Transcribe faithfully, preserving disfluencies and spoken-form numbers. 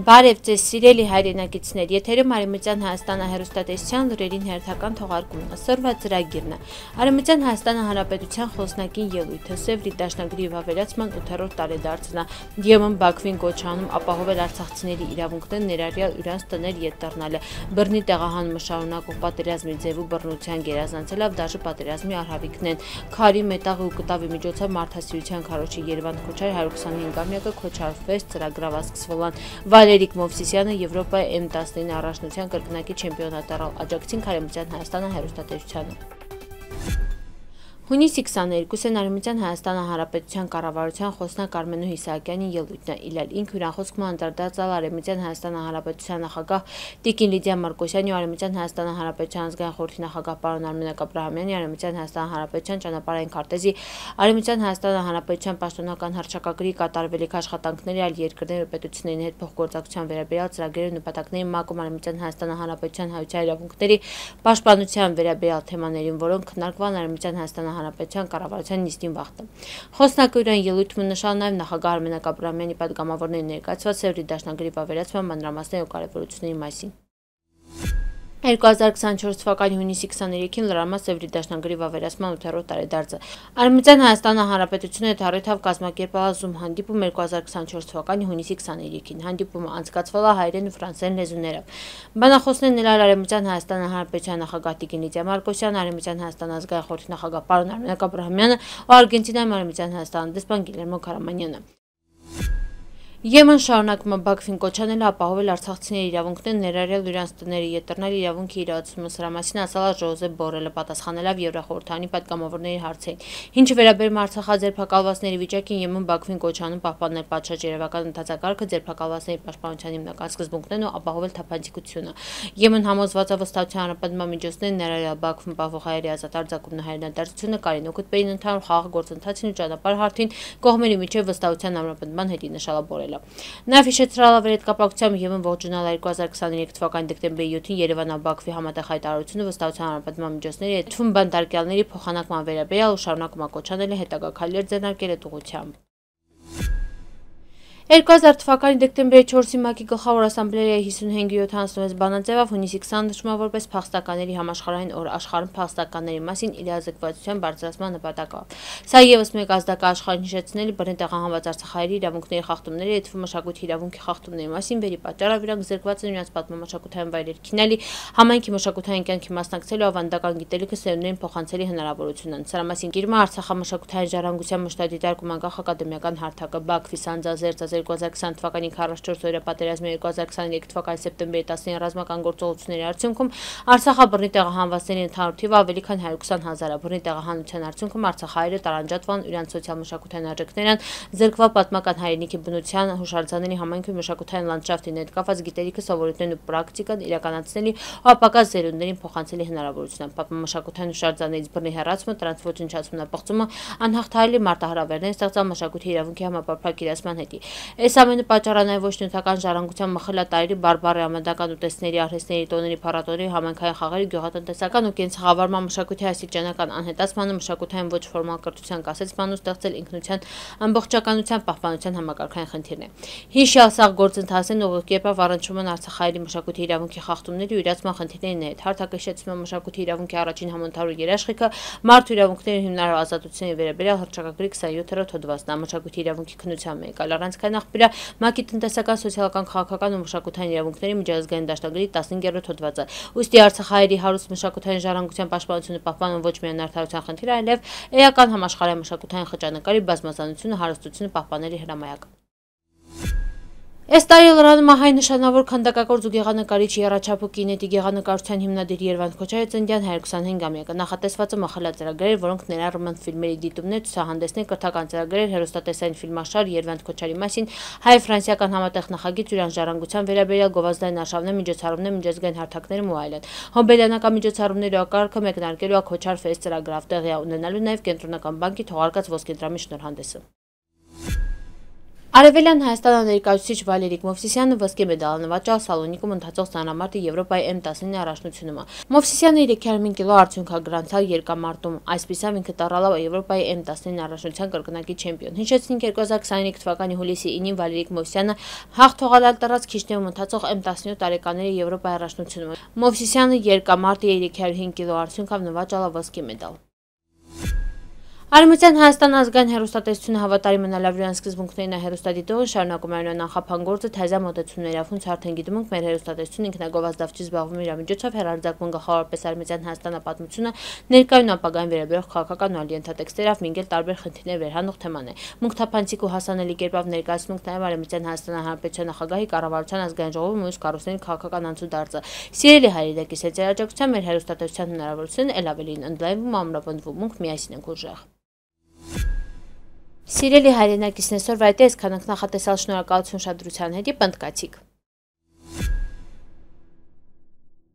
Բարև ձեզ սիրելի հայրենակիցներ, եթերում Արևմտյան Հայաստանը հեռուստատեսության լուրերին հերթական թողարկումն է, սրվա ծրագիրն է։ Արևմտյան Հայաստանը Հանրապետության խոսնակին ելույթը Սևրի դաշնագրի վավերացման ութերորդ տարեդարձն է, ԵՄ Բաքվին կոչ անում ապահովել արցախցիների իրավունքներ ներառյալ իրանց տներ ետ դառնալը, բռնի տեղահանումը շարունակող պատերազմի ձև ու բռնության գերազանցելավ դաժե պատերազմի արհավիկն են, քարի, մետաղի ու կտավի միջոցով մարդասիրության քարոջի Երևան Քոչարի հարյուր քսանհինգամյակը քոչարվեց ծրագրավա սկսվելան։ Վալերիկ Մովսիսյանը Եվրոպայի էմ տասնինը առաջնության կրկնակի չեմպիոնատ առավ, աջակցին Արևմտյան Հայաստանը հեռուստատեսությանը։ Հունիսի քսաներկուսին Արևմտյան Հայաստանը Հանրապետության կառավարության խոսնակ Արմենուհի Իսահակյանի ելույթն է, իլալ ինք հյուրանխոսքում անդրադարձալ Արևմտյան Հայաստանը Հանրապետության նախագահ Տիկին Լիդիա Մարկոսյանի ու Արևմտյան Հայաստանը Հանրապետության ազգային խորհրդի նախագահ պարոն Արմենակ Աբրահամյանի, Արևմտյան Հայաստան Հանրապետության ճանապարհային քարտեզի, Արևմտյան Հայաստանը Հանրապետության պաշտոնական հռչակագրի կատարվելիք աշխատանքների այլ երկրների ու պետությունների հետ փոխգործակցության վերաբերյալ ծրագրերի նպատակների ՄԱԿ-ում Արևմտյան Հայաստանը Հանրապետության հայության իրավունքների պաշտպանության վերաբերյալ թեմաներին, որոնք քննարկվան Արևմտյան Հայաստանը Հանրապետության կառավարության նիստին վաղտը։ Խոսնակը իրեն ելույթում նշал նաև նախագահ Արմենակ Աբրահամյանի պատգամավորների ներկայացված Սևրի դաշնագրի վավերացման մանրամասների ու կարևորությունների մասին։ երկու հազար քսանչորս թվականի հունիսի քսաներեքին լրացավ Սևրի դաշնագրի վավերացման ութերորդ տարեդարձը։ Արևմտյան Հայաստանը Հանրապետությունը հետ առիթավ կազմակերպել Zoom հանդիպում երկու հազար քսանչորս թվականի հունիսի քսաներեքին։ Հանդիպումը անցկացվել է հայերեն ու ֆրանսերեն լեզուներով։ Բանախոսներն ելալ Արևմտյան Հայաստանը Հանրապետության նախագահ Տիկին Լիդիա Մարկոսյանը, Արևմտյան Հայաստան ազգային խորհրդի նախագահ պարոն Արմենակ Աբրահամյանը ու Արգենտինայում Արևմտյան Հայաստան դեսպան Գիլերմո Քարամանյանը։ ԵՄ-ն շարունակում է Բաքվին կոչ անել ապահովել արցախցիների իրավունքներ ներառյալ իրանց տների ետ դառնալ իրավունքի իրացումը, սրա մասին ասել է Ժոզեփ Բորելը, պատասխանելով Եվրախորհրդանի պատգամավորների հարցերին։ Ինչը վերաբերում է արցախաձերբակալվածների վիճակին, ԵՄ-ն Բաքվին կոչ անում պահպանել պատշաճ-երևական ընդհանրակարգը, ձերբակալվածների պաշտպանության հիմնական սկզբունքներն ու ապահովել թափանցիկությունը։ ԵՄ-ն համոզված է վստահության անապատման միջոցներն ներառյալ Բաքվում պահվող հայերի ազատ արձակումն ու հայրենադարձությունը Կարին օգուտբերին ընդհանուր խաղաղ գործընթացին ու ճանապարհ հարթին կողմերի միջև վստահության անապատման հետի նշել է Բորելը։ Նաև հիշեցրել է այդ կապակցությամբ ԵՄ-ն ողջունել երկու հազար քսաներեք թվականի դեկտեմբերի յոթին Երևան-Բաքվի համատեղ հայտարարությունը վստահության անապատման միջոցների հետ թվում բանտարկյալների փոխանակման վերաբերյալ ու շարունակում է կոչ անել հետագա քայլեր ձեռնարկել այդ ուղղությամբ։ երկու հազար թվականի դեկտեմբերի չորսին ՄԱԿ-ի գլխավոր ասամբլեայի հիսունհինգ-յոթ հանձնվեց բանաձևով, հունիսի քսանը նշվում է որպես փախստականների համաշխարհային օր, աշխարհում փախստականների մասին իրազեկվածության բարձրացման նպատակով։ Սա ևս մեկ ազդակ է աշխարհին հիշեցնելու բռնի տեղահանված արցախահայերի իրավունքների խախտումների, այդ թվում մշակույթի իրավունքի խախտումների մասին, վերի պատճառով իրանք զրկված են իրենց պատմամշակութային վայրեր քինալի, համայնքի մշակութային կյանքի մասնակցելու ավանդական գիտելիքը սերունդերին փոխանցելի հնարավորությունն։ Սրա մասին գիրում է Արցախամշակութային ժառանգության մշտադիտարկում անկախ ակադեմիական հարթակը Բաքվի Սանձազերծած երկու հազար քսան թվականի քառասունչորս օրյա պատերազմի երկու հազար քսաներեք թվականի սեպտեմբերի տասնին ռազմական գործողությունների արդյունքում Արցախը բռնի տեղահանվածների ընդհանուր թիվը ավելի քան հարյուր քսան հազար է։ Բռնի տեղահանության արդյունքում արցախահայերը տարանջատվան, իրանց սոցիալ-մշակութային արժեքներն զրկվել պատմական հայրենիքի բնության, հուշարձանների համայնքի մշակութային լանդշաֆտին հետ կապված գիտելիքը, սովորույթներն ու պրակտիկան իրականացնելի ու ապակա սերունդերին փոխանցելի հնարավորություն։ Պատմամշակութային հուշարձաններից բռնի հեռացումը, տրանս ոչնչացումն ու պղծումը անհաղթահարելի մարտահրավերներ ստեղծան մշակույթի իրավունքի համապարփակ իրացման հետի։ Այս ամենը պատճառ է նաև ոչ նյութական ժառանգության մխելատարի բարբառի ամենական ուտեստների, արհեստների, տոների, փառատոների, համայնքային խաղերի, գյուղատնտեսական ու կենցաղավարման մշակույթի աստիճանական անհետացմանը, մշակութային ոչ ֆորմալ կրթության կասեցման ու ստեղծել ինքնության ամբողջականության պահպանության համակարգային խնդիրն է։ Հիշյալ սաղ գործընթացներն ուղղակիորեն առնչվում են արցախահայերի մշակույթի իրավունքի խախտումների ու իրացման խնդիրների հետ։ Հարթակը հիշեցնում է մշակույթի իրավունքի առաջին համընդհանուր երաշխիքը մարդու իրավունքների հիմնարար ազատությունների վերաբերյալ հռչակագրի քսանյոթերորդ հոդվածն է, մշակույթի իրավունքի քննության մեկ այլ առանցքային աղբյուր ՄԱԿ-ի տնտեսական, սոցիալական, քաղաքական ու մշակութային իրավունքների միջազգային դաշնագրի տասնհինգերորդ հոդվածը։ Ուստի արցախահայերի հարուստ մշակութային ժառանգության պաշտպանությունը պահպանվում ոչ միայն արդարության խնդիր, այլև էական համաշխարհային մշակութային խճանկարի բազմազանությունը, հարստությունը պահպանելի հրամայակ։ Այս տարի լրանում է հայ նշանավոր քանդակագործ ու գեղանկարիչ եռաչափու կինետի գեղանկարչության հիմնադիր Երվանդ Քոչարի ծննդյան հարյուր քսանհինգամյակը։ Նախատեսված է մխելա ծրագրեր, որոնք ներառում են ֆիլմերի դիտումներ, ցուցահանդեսներ, կրթական ծրագրեր, հեռուստատեսային ֆիլմաշար Երվանդ Քոչարի մասին, հայ-ֆրանսիական համատեղ նախագիծ, ուրան ժառանգության վերաբերյալ գովազդային արշավներ, միջոցառումներ, միջազգային հարթակներ ու այլն։ Հոբելյանական միջոցառումների ակարգը մեկնարկելու է Քոչար Ֆեստ ծրագրով, տեղի ունենալու նաև Կենտրոնական բանկի թողարկած ոսկեդրամի շնորհանդեսը։ Արևելյան Հայաստանը ներկայացուցիչ Վալերիկ Մովսիսյանը ոսկե մեդալ նվաճել Սալոնիկում ընթացող ծանրամարտի Եվրոպայի էմ տասնինը առաջնությունում։ Մովսիսյանը երեք հարյուր պինգ կիլո արդյունք է գրանցել երկամարտում, այսպիսով ինքը դառավ Եվրոպայի էմ տասնինը առաջնության կրկնակի չեմպիոն։ Հիշեցնենք երկու հազար քսաներեք թվականի հուլիսի ինին Վալերիկ Մովսիսյանը հաղթողալալ տարած Քիշնևում ընթացող էմ տասնյոթ տարեկաների Եվրոպայի առաջնությունում։ Մովսիսյանը երկամարտի երեք հարյուր պինգ կիլո արդյունքով նվաճել ոսկե մեդալ։ Արևմտյան Հայաստան ազգային հեռուստատեսությունը հավատարիմ մնալավրյան սկզբունքներին է հեռուստադիտողը շարունակում է նախապան գործը թազա մոտեցումներով հունց արդեն գիտում ենք մեր հեռուստատեսությունը ինքնագովազդավճի զբաղվում իր միջոցով հեռարձակվում գլխավորապես Արևմտյան Հայաստանը պատմությունը ներկայուն ապագային վերաբերող քաղաքական ու այլ ենթատեքստերով մինչև տարբեր խնդիրներ վերհանող թեման է։ Մունքթափանցիկ ու հասանելի կերպով ներկայացնում ենք նաև Արևմտյան Հայաստան Հանրապետության նախագահի կառավարության ազգային ժողովում մյուս կառույցների քաղաքական անցուդարձը։ Սիրելի հայրենակի սեծերաջակցության մեր հեռուստատեսության հնարավորությունն էլ ավելին ընդլայնվում ամրապնդվում ենք միասին ենք ուժեղ։ Սիրելի հայրենակիցն այսօր վայտես քանանք նախատեսալ շնորհակալություն շադրության հետի պնդկացիք։